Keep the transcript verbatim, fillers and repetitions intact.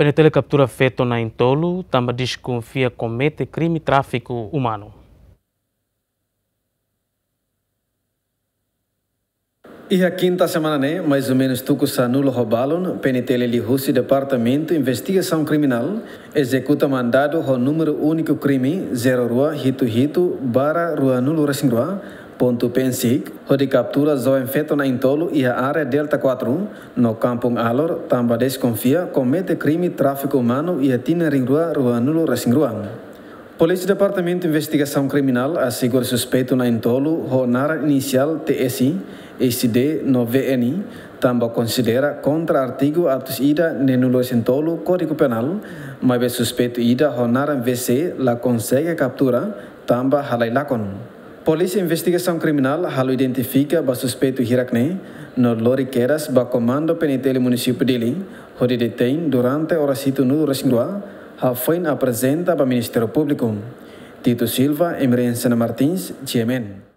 PNTL kaptura feto na'in-tolu tanba deskonfia komete krime tráfiku umanu. Iha kinta semana ne'e, mais ou menus tuku sanulu ho balun, PNTL liuhusi Departamentu Investigasaun Kriminál ezekuta mandadu ho númeru úniku krime zero rua hitu hitu barra rua nulu resin rua pontu PNSIC, hodi kaptura joven feto na'in-tolu iha área Delta quatro, no Kampung Alor, tanba deskonfia komete krime tráfiku umanu iha tinan rihun rua rua nulu resin rua. Polísia Departamentu Investigasaun Kriminál asegura suspeitu na'in-tolu ho naran inisiál T S, S D no V N, tanba konsidera kontra artigu atus ida neenulu resin tolu Kódigu Penál, maibé suspeitu ida ho naran V C la konsege kaptura, tanba halai lakon. Polísia Investigasaun Kriminál halo identifika ba suspeitu hirak-ne'e, no lori kedas ba Komandu PNTL Munisípiu Dili, hodi detein durante oras hitunulu resin rua, hafoin aprezenta ba Ministériu Públiku. Tito Silva, Emerenciana Martins, G M N.